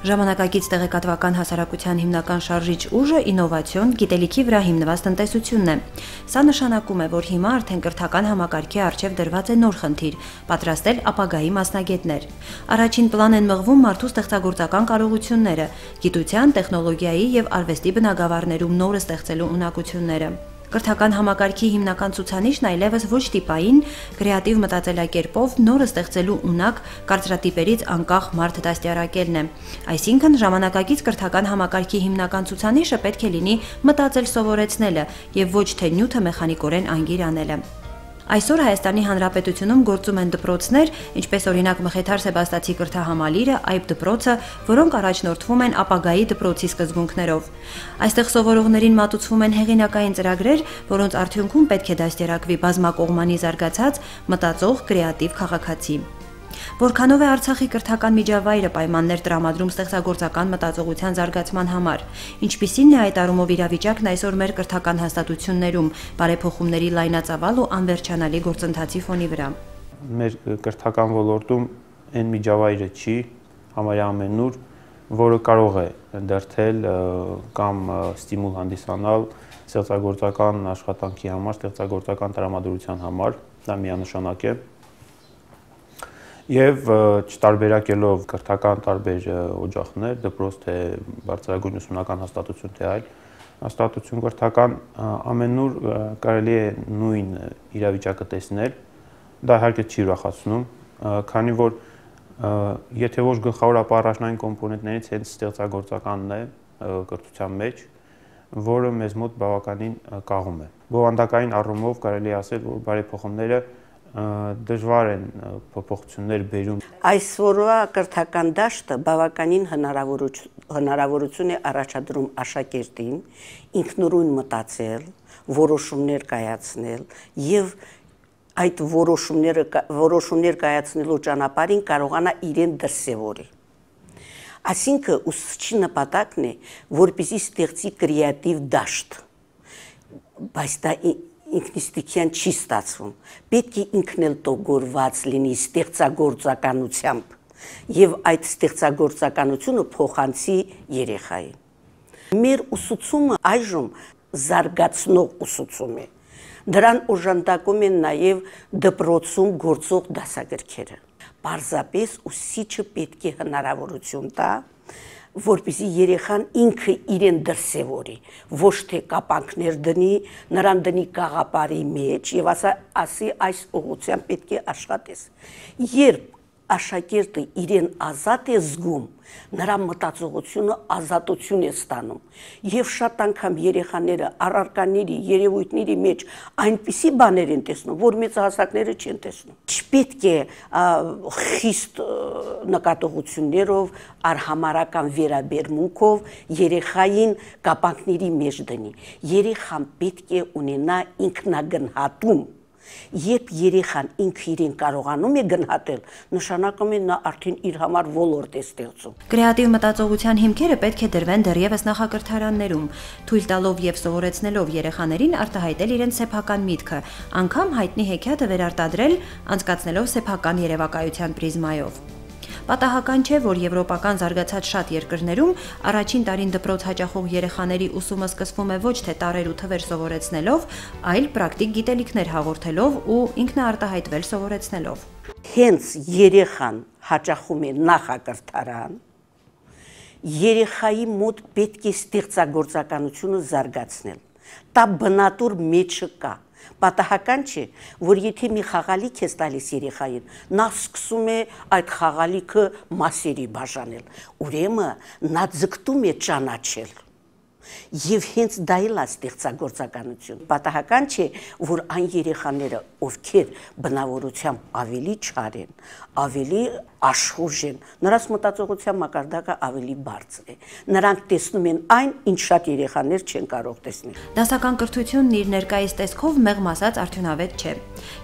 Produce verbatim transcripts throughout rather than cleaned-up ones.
Ժամանակակից տեղեկատվական հասարակության հիմնական շարժիչ ուժը ինովացիոն, գիտելիքի վրա հիմնված տնտեսությունն է։ Սա նշանակում է, որ հիմա արդեն կրթական համակարգի առջև դրված է նոր խնդիր՝ պատրաստել ապագայի մասնագետներ։ Առաջին պլան են մղվում մարդու ստեղծագործական կարողությունները, գիտության, տեխնոլոգիայի եւ արվեստի բնագավառներում նորը ստեղծելու ունակությունները։ Կրթական համակարգի հիմնական ցուցանիշն այլևս ոչ տիպային, կրեատիվ մտածելակերպով նորը ստեղծելու ունակ կարծրատիպերից անկախ մարդ դաստիարակելն է։ Այսինքն ժամանակակից կրթական համակարգի հիմնական ցուցանիշը պետք է լինի մտածել սովորեցնելը եւ ոչ թե նյութը մեխանիկորեն անգիր անելը։ Այսօր Հայաստանի Հանրապետությունում գործում են դպրոցներ, ինչպես օրինակ Մխիթար Սեբաստացի կրթահամալիրը, Այբ դպրոցը, որոնք առաջնորդվում են ապագայի դպրոցի սկզբունքներով։ Այստեղ սովորողներին մատուցվում են հեղինակային ծրագրեր, որոնց արդյունքում պետք է դաստիարակվի բազմակողմանի զարգացած, մտածող, կրեատիվ քաղաքացի։ Որքանով է Արցախի կրթական միջավայրը պայմաններ տրամադրում ստեղծագործական մտածողության զարգացման համար, ինչպիսին է այդ առումով իրավիճակն այսօր մեր կրթական հաստատություններում, բարեփոխումների լայնածավալ ու անվերջանալի գործընթացի ֆոնի վրա։ Մեր կրթական ոլորտում այն միջավայրը չի, համարյա ամենուր, որը կարող է դրդել կամ ստիմուլ հանդիսանալ ստեղծագործական աշխատանքի համար, ստեղծագործական տրամադրության համար, դա միանշանակ է։ Եվ չտարբերակելով կրթական տարբեր օջախներ, դպրոց թե բարձրագույն ուսումնական հաստատություն թե այլ հաստատություն կրթական ամենուր կարելի է նույն իրավիճակը տեսնել, դա իհարկե չի ուրախացնում, քանի որ եթե ոչ գլխավոր առաջնային կոմպոնենտներից հենց ստեղծագործականն է կրթության մեջ, որը մեզ մոտ բավականին կաղում է։ Բովանդակային առումով կարելի է ասել, որ բարեփոխումները դժվար են փոփոխություններ բերում։ Այսօրվա կրթական դաշտը բավականին հնարավորություն է առաջադրում աշակերտին ինքնուրույն մտածել, որոշումներ կայացնել եւ այդ որոշումները որոշումներ կայացնելու ճանապարհին կարողանա իրեն դրսևորի։ Այսինքն ուսուցչի նպատակն է, որպեսզի ստեղծի կրեատիվ դաշտ, բայց դա ինքնիստիկյան չի ստացվում, պետք է ինքն էլ տոգորված լինի ստեղծագործականությամբ եւ այդ ստեղծագործականությունը փոխանցի երեխային։ Մեր ուսուցումը այժմ զարգացնող ուսուցում է, դրան օժանդակում են նաեւ դպրոցում գործող դասագրքերը։ Պարզապես ուսուցիչը պետք է հնարավորություն տա, որպեսզի երեխան ինքը իրեն դրսևորի, ոչ թե կապանքներ դնի, նրան դնի կաղապարի մեջ եւ ասի այս ուղղությամբ պետք է աշխատես։ Երբ աշակերտը իրեն ազատ է զգում, նրա մտածողությունը ազատություն է ստանում եւ շատ անգամ երեխաները առարկաների, երևույթների մեջ այնպիսի բաներ են տեսնում, որ մեծահասակները չեն տեսնում։ Չպետք է խիստ նկատողություններով, արհամարական վերաբերմունքով երեխային կապանքների մեջ դնի։ Երեխան պետք է ունենա ինքնագնահատում։ Երբ երեխան ինքը իրեն կարողանում է գնահատել, նշանակում է նա արդեն իր համար ոլորտ է ստեղծում։ Կրեատիվ մտածողության հիմքերը պետք է դրվեն դեռևս նախակրթարաններում, թույլ տալով եւ սովորեցնելով երեխաներին արտահայտել իրենց սեփական միտքը, անգամ հայտնի հեքիաթը վերարտադրել, անցկացնելով սեփական երևակայության պրիզմայով։ Պատահական չէ, որ եվրոպական զարգացած շատ երկրներում առաջին տարին դպրոց հաճախող երեխաների ուսումը սկսվում է ոչ թե տարեր ու թվեր սովորեցնելով, այլ պրակտիկ գիտելիքներ հաղորդելով ու ինքնաարտահայտվել սովորեցնելով։ Հենց երեխան հաճախում է նախակրթարան, երեխայի մոտ պետք է ստեղծագործականությունը զարգացնել։ Դա բնատուր մեջը կա։ Պատահական չէ, որ եթե մի խաղալիք ես տալիս երեխային, նա սկսում է այդ խաղալիքը մասերի բաժանել, ուրեմն նա ձգտում է ճանաչել։ Եվ հենց դա էլ է ստեղծագործականություն։ Պատահական չէ, որ այն երեխաները, ովքեր բնավորությամբ ավելի չար են, ավելի աշխուժ են, նրանց մտածողության մակարդակը ավելի բարձր է։ Նրանք տեսնում են այն, ինչ շատ երեխաներ չեն կարող տեսնել։ Դասական կրթությունն իր ներկայիս տեսքով մեղմ ասած արդյունավետ չէ։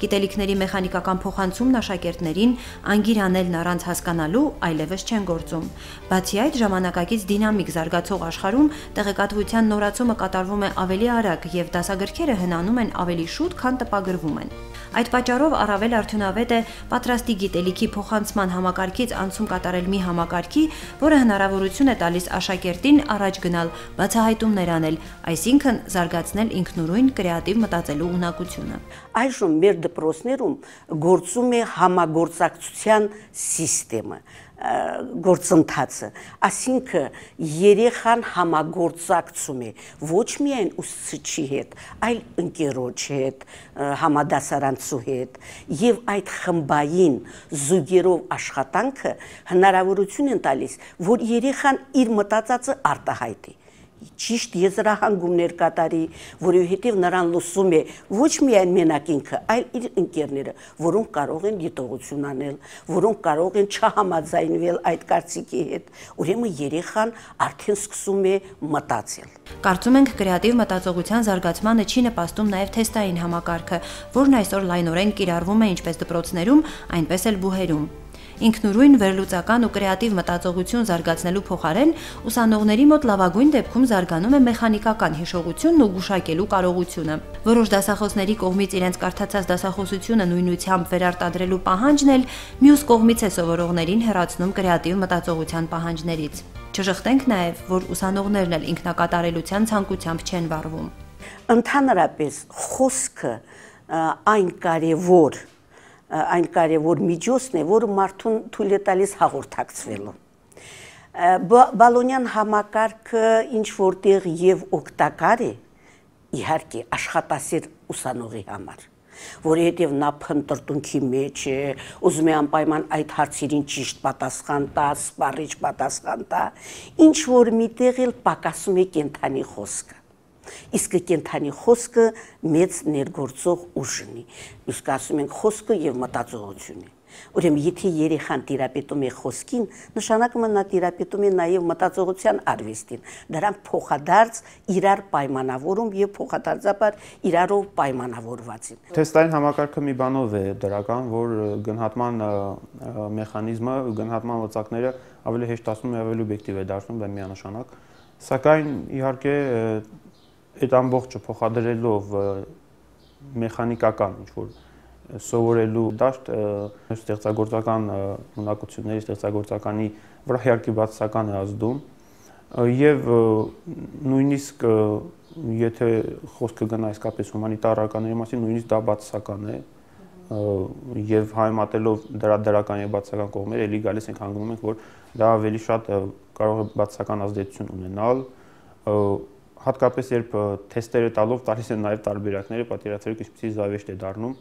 Գիտելիքների մեխանիկական փոխանցումն աշակերտներին անգիր անելն առանց հասկանալու այլևս չեն գործում։ Բացի այդ, ժամանակակից դինամիկ զարգացող աշխարհում տեղեկատվության պատվության նորացումը կատարվում է ավելի արագ եւ դասագրքերը հնանում են ավելի շուտ, քան տպագրվում են։ Այդ պատճառով առավել արդյունավետ է պատրաստի գիտելիքի փոխանցման համակարգից անցում կատարել մի համակարգի, որը հնարավորություն է տալիս աշակերտին առաջ գնալ, բացահայտումներ անել, այսինքն զարգացնել ինքնուրույն կրեատիվ մտածելու ունակությունը։ Այժմ մեր դպրոցներում գործում է համագործակցության սիստեմը, գործընթացը, այսինքն երեխան համագործակցում է ոչ միայն ուսուցչի հետ, այլ ընկերոջ հետ, համադասարանցու հետ, եւ այդ խմբային զուգերով աշխատանքը հնարավորություն են տալիս, որ երեխան իր մտածածը արտահայտի, ճիշտ եզրահանգումներ կատարի, որովհետև նրան լսում է ոչ միայն մենակ ինքը, այլ իր ընկերները, որոնք կարող են դիտողություն անել, որոնք կարող են չհամաձայնվել այդ կարծիքի հետ, ուրեմն երեխան արդեն սկսում է մտածել։ Կարծում ենք կրեատիվ մտածողության զարգացմանը չի նպաստում նաև թեստային համակարգը, որն այսօր լայնորեն կիրառվում է ինչպես դպրոցներում, այնպես էլ բուհերում։ Ինքնուրույն վերլուծական ու կրեատիվ մտածողություն զարգացնելու փոխարեն ուսանողների մոտ լավագույն դեպքում զարգանում է մեխանիկական հիշողությունն ու գուշակելու կարողությունը։ Որոշ դասախոսների կողմից իրենց կարդացած դասախոսությունը նույնությամբ վերարտադրելու պահանջն էլ մյուս կողմից է սովորողներին հեռացնում կրեատիվ մտածողության պահանջներից։ Չժխտենք նաև, որ ուսանողներն էլ ինքնակատարելության ցանկությամբ չեն վարվում։ Ընդհանրապես խոսքը այն կարևոր այն կարևոր միջոցն է, որը մարդուն թույլ է տալիս հաղորդակցվելու։ Բալոնյան համակարգը ինչ որտեղ եւ օգտակար է, իհարկե աշխատասեր ուսանողի համար, որովհետև նա փնտրտունքի մեջ է, ուզում է անպայման այդ հարցերին ճիշտ պատասխան տա, սպառիչ պատասխան տա, ինչ որ միտեղ էլ պակասում է կենթանի խոսքը։ Իսկ կենթանի խոսքը մեծ ներգործող ուժ ունի, իսկ ասում ենք խոսքը եւ մտածողությունը։ Ուրեմն եթե երեխան տիրապետում է խոսքին, նշանակում է նա տիրապետում է նաեւ մտածողության արվեստին, դրան փոխադարձ իրար պայմանավորում եւ փոխադարձաբար իրարով պայմանավորված են։ Թեստային համակարգը մի բանով է դրական, որ գնահատման մեխանիզմը, գնահատման լծակները ավելի հեշտացնում եւ ավելի օբյեկտիվ է դարձնում, դա միանշանակ, սակայն իհարկե այդ ամբողջը փոխադրելով մեխանիկական ինչ-որ սովորելու դաշտ ստեղծագործական ունակությունների, ստեղծագործականի վրա իհարկե բացասական է ազդում եւ նույնիսկ եթե խոսքը գնա իսկապես հումանիտարականների մասին, նույնիսկ դա բացասական է եւ համեմատելով դրա դրական եւ բացասական կողմերը, ելի գալիս ենք հանգնում ենք, որ դա ավելի շատ կարող է բացասական ազդեցություն ունենալ, հատկապես երբ թեստերը տալով տալիս են նաև տարբերակները, պատկերացրեք ինչպիսի զավեշտ է դառնում,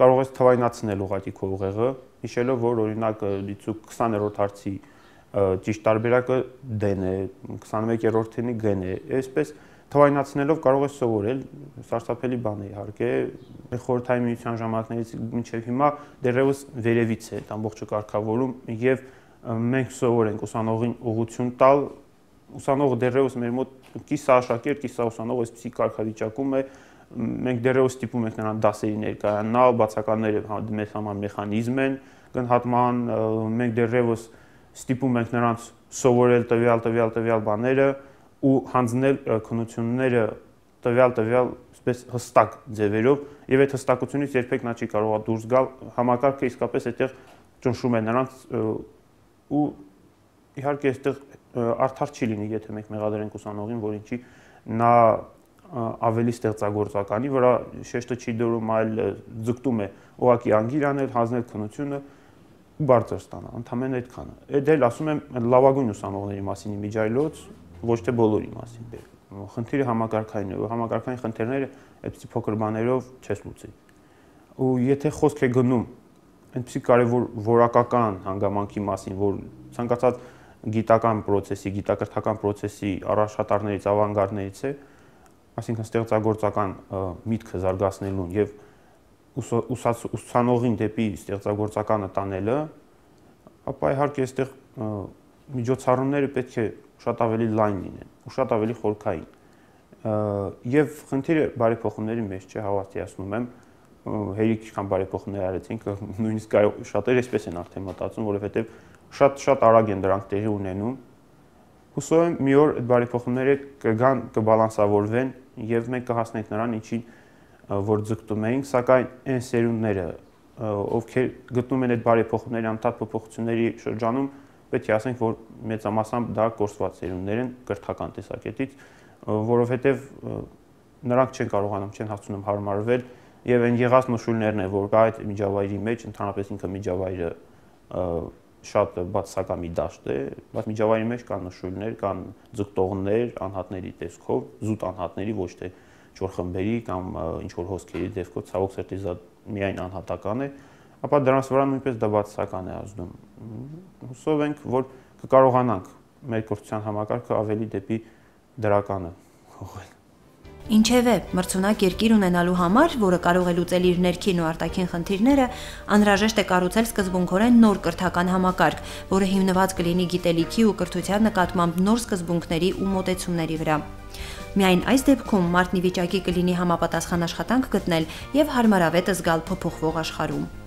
կարող ես թվայնացնել ուղղակի քո ուղեղը, հիշելով, որ օրինակ դիցուկ քսաներորդ հարցի ճիշտ տարբերակը D-ն է, քսանմեկերորդինի G-ն է, այսպես թվայնացնելով կարող ես սովորել, սարսափելի բան է իհարկե, խորհրդային միության ժամանակներից մինչև հիմա դեռևս վերևից է այդ ամբողջը կարգավորում եւ մենք սովոր ենք ուսանողին ուղղություն տալ, ուսանողը դեռևս մեր մոտ կիսա աշակերտ, կիսա ուսանող այսպիսի կարգավիճակում է, մենք դեռևս ստիպում ենք նրան դասերի ներկայանալ, բացականները մեծ համար մեխանիզմ են գնահատման, մենք դեռևս ստիպում ենք նրանց սովորել տվյալ տվյալ տվյալ բաները ու հանձնել քննությունները տվյալ տվյալ այսպես հստակ ձևերով եւ այդ հստակությունից երբեք նա չի կարող դուրս գալ, համակարգը իսկապես այդտեղ ճնշում է նրանց ու իհարկե այստեղ արդար չի լինի, եթե մենք մեղադրենք ուսանողին, որ ինչի նա ավելի ստեղծագործականի վրա շեշտը չի դրում, այլ ձգտում է ուղղակի անգիր անել, հանձնել քննությունը ու բարձր ստանալ, ընդամենը այդքանը։ Այդ էլ ասում եմ լավագույն ուսանողների մասին իմիջայլոց, ոչ թե բոլորի մասին։ Խնդիրը համակարգային է, համակարգային խնդիրները այդպիսի փոքր բաներով չես լուծի։ Ու եթե խոսք է գնում այնպիսի կարևոր որակական հանգամանքի մասին, որ ցանկացած գիտական process-ի, գիտակրթական process-ի առաջատարներից, ավանգարդներից է, այսինքն ստեղծագործական միտքը զարգացնելուն եւ ուսանողին դեպի ստեղծագործականը տանելը, ապա իհարկե այստեղ միջոցառումները պետք է շատ ավելի լայն լինեն, ու շատ ավելի խորքային։ Եվ խնդիրը բարեփոխումների մեջ չէ, հավատացնում եմ, հերիք ինչքան բարեփոխումներ արեցինք, նույնիսկ շատերը այսպես են արդեն մտածում, որովհետեւ շատ-շատ արագ են դրանք տեղի ունենում Հուսով եմ մի օր այդ բարեփոխումները կգան, կբալանսավորվեն եւ մենք կհասնենք նրան, ինչին որ ձգտում էինք, սակայն այն սերունդները, ովքեր գտնում են այդ բարեփոխումների անդադար փոփոխությունների շրջանում, պետք է ասենք, որ մեծամասամբ դա կորսված սերունդներ են կրթական տեսակետից, որովհետեւ նրանք չեն կարողանում, չեն հասցնում հարմարվել եւ այն եղած նշույլներն է, որ կա այդ միջավայրի մեջ, ընդհանրապես ինքը միջավայրը շատ բացասական մի դաշտ է, բայց միջավայրի մեջ կան նշույլներ, կան ձգտողներ, անհատների տեսքով, զուտ անհատների, ոչ թե չոր խմբերի կամ ինչ որ հոսքերի դեպքով, ցավոք սրտի դա միայն անհատական է, ապա դրանց վրա նույնպես դա բացասական է ազդում։ Հուսով ենք, որ կկարողանանք մեր կրթության համակարգը ավելի դեպի դրականը ուղղել։ Ինչևէ, մրցունակ երկիր ունենալու համար, որը կարող է լուծել իր ներքին ու արտաքին խնդիրները, անհրաժեշտ է կառուցել սկզբունքորեն նոր կրթական համակարգ, որը հիմնված կլինի գիտելիքի ու կրթության նկատմամբ նոր սկզբունքների ու մոտեցումների վրա։ Միայն այս դեպքում մարդն ի վիճակի կլինի համապատասխան աշխատանք գտնել եւ հարմարավետ զգալ փոփոխվող աշխարհում։